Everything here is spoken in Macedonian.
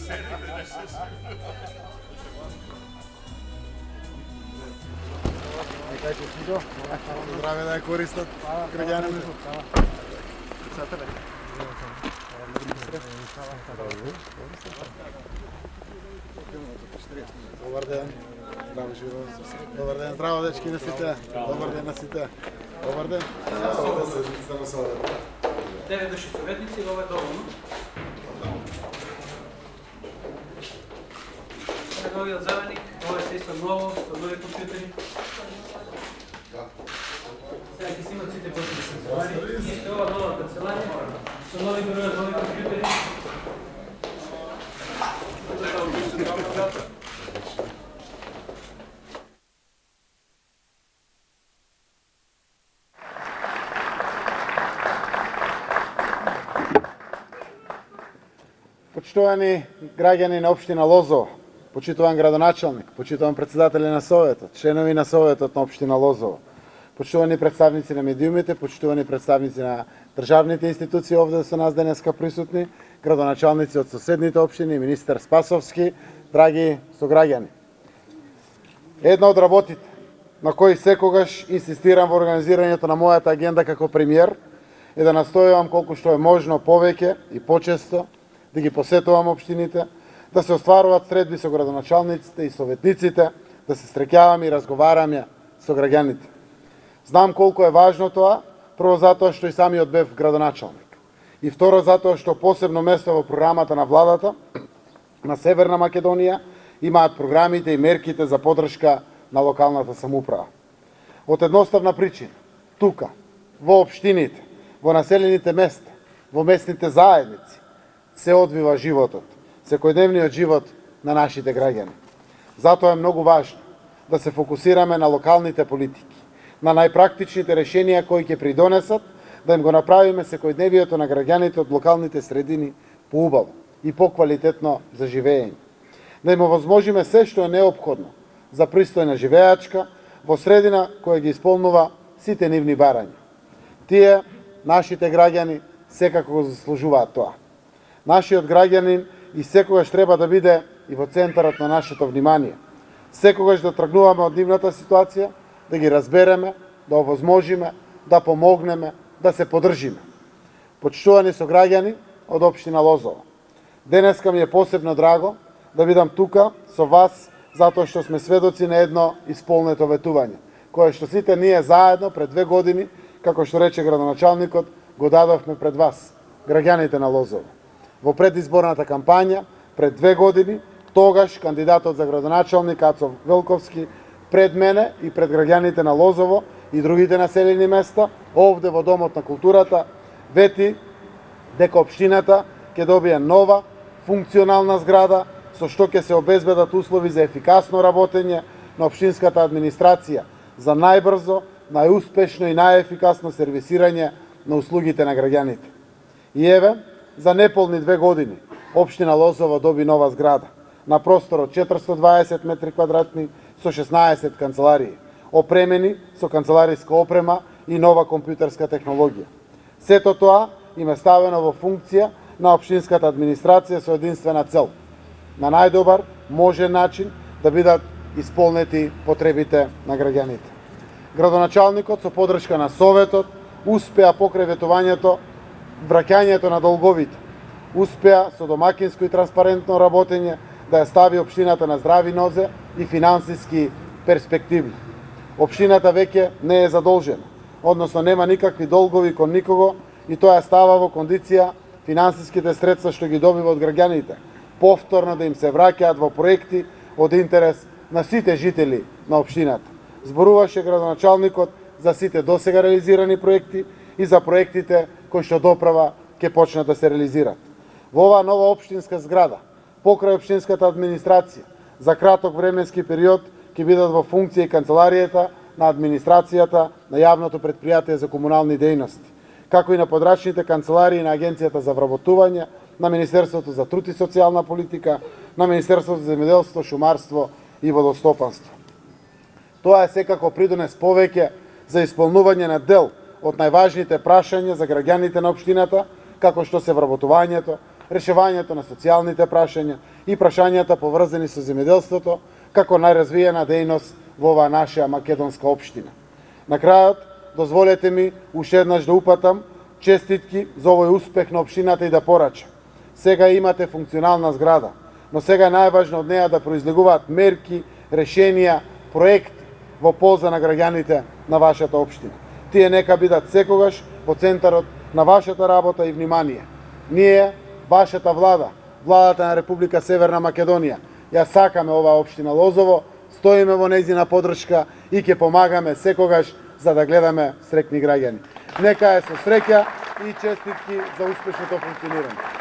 Здраве да ја користат граѓаните. Добар ден. Здраво живо. Добар ден, здраво дечки на сите. Добар ден на сите. Добар ден. Девет души советници, ова е доволно. Новиот заменик, ова е се исто ново, со нови компјутери. Сега ќе си имат сите потреби канцелари. Исто ова нова канцеларија, со нови бројот, нови компјутери. Почитувани граѓани на општина Лозово, почитуван градоначалник, почитуван председатели на Советот, членови на Советот на општина Лозово, почитувани представници на медиумите, почитувани представници на државните институции овде со нас денеска присутни, градоначалници од соседните општини, министер Спасовски, драги сограѓани. Една од работите на кои секогаш инсистирам во организирањето на мојата агенда како премиер е да настојувам колку што е можно повеќе и почесто да ги посетувам општините, да се остваруваат средби со градоначалниците и советниците, да се среќаваме и разговараме со граѓаните. Знам колку е важно тоа, прво затоа што и самиот бев градоначалник. И второ затоа што посебно место во програмата на владата на Северна Македонија имаат програмите и мерките за поддршка на локалната самоуправа. Од едноставна причина, тука, во општините, во населените места, во местните заедници, се одвива животот, секојдневниот живот на нашите граѓани. Затоа е многу важно да се фокусираме на локалните политики, на најпрактичните решенија кои ќе придонесат да им го направиме секојдневието на граѓаните од локалните средини поубаво и поквалитетно за живење. Да им овозможиме се што е неопходно за пристојна живеачка во средина која ги исполнува сите нивни барања. Тие, нашите граѓани, секако го заслужуваат тоа. Нашиот граѓанин и секогаш треба да биде и во центарот на нашето внимание. Секогаш да тргнуваме од нивната ситуација, да ги разбереме, да овозможиме, да помогнеме, да се поддржиме. Почитувани сограѓани од општина Лозово, денеска ми е посебно драго да бидам тука со вас, затоа што сме сведоци на едно исполнето ветување, кое што сите ние заедно пред 2 години, како што рече градоначалникот, го дадовме пред вас, граѓаните на Лозово. Во предизборната кампања, пред 2 години, тогаш кандидатот за градоначалник Ацо Велковски пред мене и пред граѓаните на Лозово и другите населени места, овде во Домот на културата, вети дека општината ќе добие нова, функционална зграда, со што ќе се обезбедат услови за ефикасно работење на општинската администрација, за најбрзо, најуспешно и најефикасно сервисирање на услугите на граѓаните. И еве, за неполни 2 години, општина Лозово доби нова зграда, на простор од 420 метри квадратни, со 16 канцеларии, опремени со канцелариска опрема и нова компјутерска технологија. Сето тоа им е ставено во функција на општинската администрација со единствена цел, на најдобар можен начин да бидат исполнети потребите на граѓаните. Градоначалникот со поддршка на Советот успеа покрај ветувањето враќањето на долговите, успеа со домакинско и транспарентно работење да ја стави општината на здрави нозе и финансиски перспективно. Општината веќе не е задолжена, односно нема никакви долгови кон никого и тоа ја става во кондиција финансиските средства што ги добива од граѓаните повторно да им се враќаат во проекти од интерес на сите жители на општината. Зборуваше градоначалникот за сите досега реализирани проекти и за проектите кои што доправа ќе почнат да се реализират. Во оваа нова општинска зграда, покрај општинската администрација, за краток временски период ќе бидат во функција и канцеларијата на администрацијата на јавното претпријатие за комунални дејности, како и на подрачните канцеларии на Агенцијата за вработување, на Министерството за труд и социјална политика, на Министерството за земјоделство, шумарство и водостопанство. Тоа е секако придонес повеќе за исполнување на дел од најважните прашања за граѓаните на општината, како што се вработувањето, решавањето на социјалните прашања и прашањата поврзани со земјоделството како најразвиена дејност во оваа наша македонска општина. На крајот, дозволете ми уште еднаш да упатам честитки за овој успех на општината и да порачам. Сега имате функционална зграда, но сега е најважно од неа да произлегуваат мерки, решенија, проекти во полза на граѓаните на вашата општина. Тие нека бидат секогаш во центарот на вашата работа и внимание. Ние, вашата влада, владата на Република Северна Македонија, ја сакаме оваа општина Лозово, стоиме во нејзина поддршка и ќе помагаме секогаш за да гледаме среќни граѓани. Нека е со среќа и честитки за успешното функционирање.